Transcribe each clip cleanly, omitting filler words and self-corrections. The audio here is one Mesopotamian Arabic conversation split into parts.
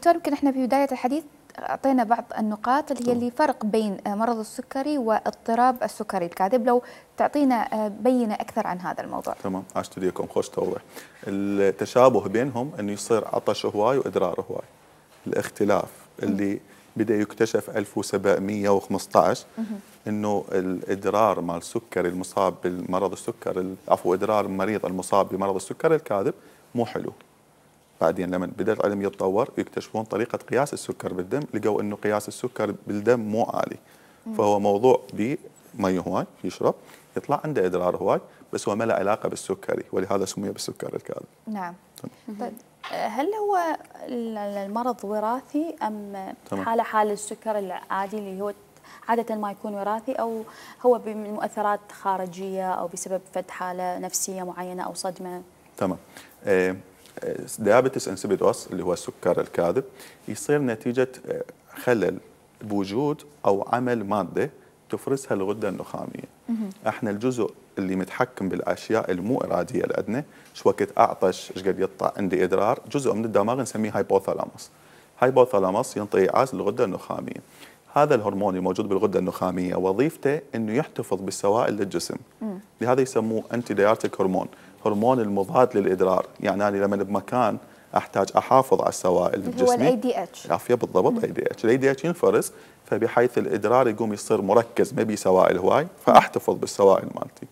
دكتور يمكن احنا في بداية الحديث أعطينا بعض النقاط اللي هي اللي فرق بين مرض السكري واضطراب السكري الكاذب، لو تعطينا بينة أكثر عن هذا الموضوع. تمام، عشت ليكم خوش توضيح. التشابه بينهم أنه يصير عطش هواي وإدرار هواي. الاختلاف اللي بدأ يكتشف 1715 انه الادرار مال السكري المصاب بالمرض السكري، عفوا ادرار المريض المصاب بمرض السكري الكاذب مو حلو. بعدين لما بدا العلم يتطور يكتشفون طريقه قياس السكر بالدم، لقوا انه قياس السكر بالدم مو عالي. فهو موضوع بمي هواي يشرب يطلع عنده ادرار هواي، بس هو ما له علاقه بالسكري، ولهذا سمي بالسكري الكاذب. نعم. طيب هل هو المرض وراثي ام حال السكر العادي اللي هو عادة ما يكون وراثي، أو هو بمؤثرات خارجية أو بسبب فد حالة نفسية معينة أو صدمة؟ تمام. ديابيتس انسيبيدوس اللي هو السكر الكاذب يصير نتيجة خلل بوجود أو عمل مادة تفرزها الغدة النخامية. احنا الجزء اللي متحكم بالأشياء المو إرادية الأدنى، شو وقت أعطش، ايش قد يطلع عندي إدرار، جزء من الدماغ نسميه هايبوثالاموس. هايبوثالاموس ينطي إيعاز للغدة النخامية. هذا الهرمون الموجود بالغدة النخامية وظيفته انه يحتفظ بالسوائل للجسم. لهذا يسموه انتي دايورتيك هرمون، هرمون المضاد للادرار. يعني انا لما بمكان احتاج احافظ على السوائل بالجسم، هو الاي دي اتش. عافيه بالضبط. اي دي اتش، الاي دي اتش ينفرز، فبحيث الادرار يقوم يصير مركز ما بي سوائل هواي، فاحتفظ بالسوائل مالتي.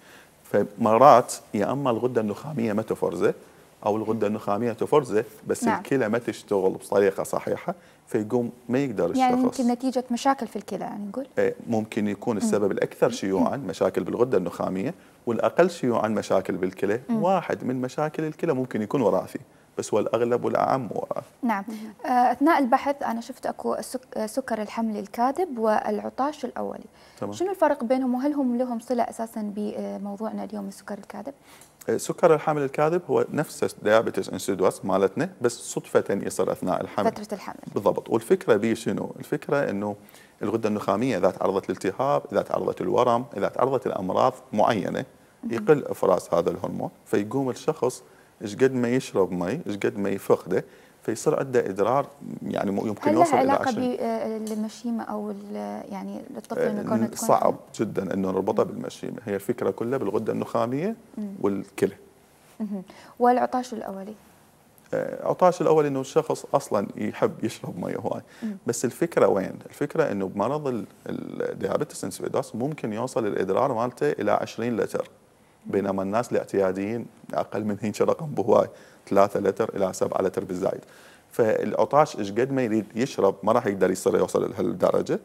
فمرات يا اما الغدة النخامية ما تفرزه، او الغدة النخامية تفرزه بس نعم. الكلى ما تشتغل بطريقة صحيحة، فيقوم ما يقدر الشخص. يعني يمكن نتيجة مشاكل في الكلى يعني نقول؟ ممكن يكون السبب الأكثر شيوعاً مشاكل بالغدة النخامية، والأقل شيوعاً مشاكل بالكلى. واحد من مشاكل الكلى ممكن يكون وراثي، بس هو الأغلب والأعم وراثي. نعم. أثناء البحث أنا شفت أكو سكر الحمل الكاذب والعطاش الأولي. تمام. شنو الفرق بينهم، وهل هم لهم صلة أساساً بموضوعنا اليوم السكر الكاذب؟ سكر الحمل الكاذب هو نفس ديابيتس انسيدوس مالتنا، بس صدفة يصير أثناء الحمل. فترة الحمل. بالضبط. والفكرة به شنو؟ الفكرة إنه الغدة النخامية إذا تعرضت للالتهاب، إذا تعرضت للورم، إذا تعرضت لأمراض معينة يقل إفراز هذا الهرمون، فيقوم الشخص إيش قد ما يشرب مي إيش قد ما يفقده، فيصير عنده إدرار يعني يمكن يوصل إلى 20. هل لها علاقة بالمشيمة أو يعني للطفل إنه تكون صعب جدا إنه نربطها بالمشيمة، هي الفكرة كلها بالغدة النخامية والكلى. والعطاش الأولي؟ عطاش الأول إنه الشخص أصلا يحب يشرب مي هواي، بس الفكرة وين؟ الفكرة إنه بمرض الديابيتس انسيبيدوس ممكن يوصل الإدرار مالته إلى 20 لتر، بينما الناس الاعتياديين أقل من هيك رقم بهواي، 3 لتر إلى 7 لتر بالزايد. فالعطاش إيش قد ما يريد يشرب ما راح يقدر يوصل لهالدرجة.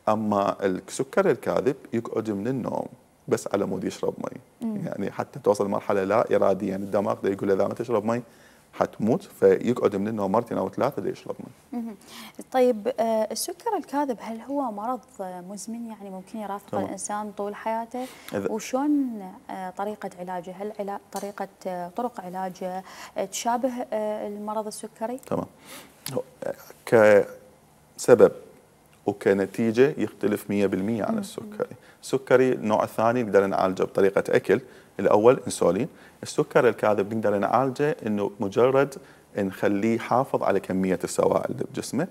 أما السكر الكاذب يقعد من النوم بس على مود يشرب مي، يعني حتى توصل مرحلة لا إراديا يعني الدماغ ده يقول إذا ما تشرب مي حتموت، فيقعد من النوم مرتين أو 3 ليشرب مي. طيب السكر الكاذب هل هو مرض مزمن يعني ممكن يرافق الإنسان طول حياته؟ وشون طريقة علاجه؟ هل طرق علاجه تشابه المرض السكري؟ تمام. كسبب وكنتيجة يختلف 100% عن السكري. السكري النوع الثاني نقدر نعالجه بطريقة أكل. الأول انسولين. السكر الكاذب نقدر نعالجه إنه مجرد نخليه يحافظ على كمية السوائل بجسمه.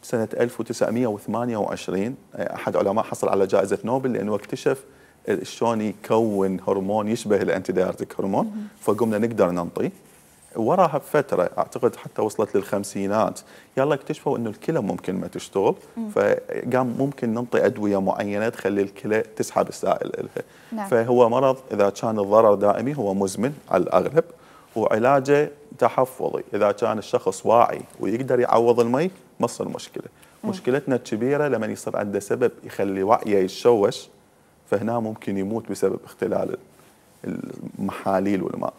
سنة 1928 أحد علماء حصل على جائزة نوبل لأنه اكتشف شلون يكون هرمون يشبه الأنتي دايورتيك هرمون، فقمنا نقدر ننطيه. وراها بفترة أعتقد حتى وصلت للخمسينات يلا اكتشفوا إنه الكلى ممكن ما تشتغل، فقام ممكن ننطي أدوية معينة تخلي الكلى تسحب السائل إلها. نعم. فهو مرض إذا كان الضرر دائمي هو مزمن على الأغلب، وعلاجه تحفظي. إذا كان الشخص واعي ويقدر يعوض المي ما تصير مشكلة. مشكلتنا الكبيرة لما يصير عنده سبب يخلي وعيه يتشوش، فهنا ممكن يموت بسبب اختلال المحاليل والماء.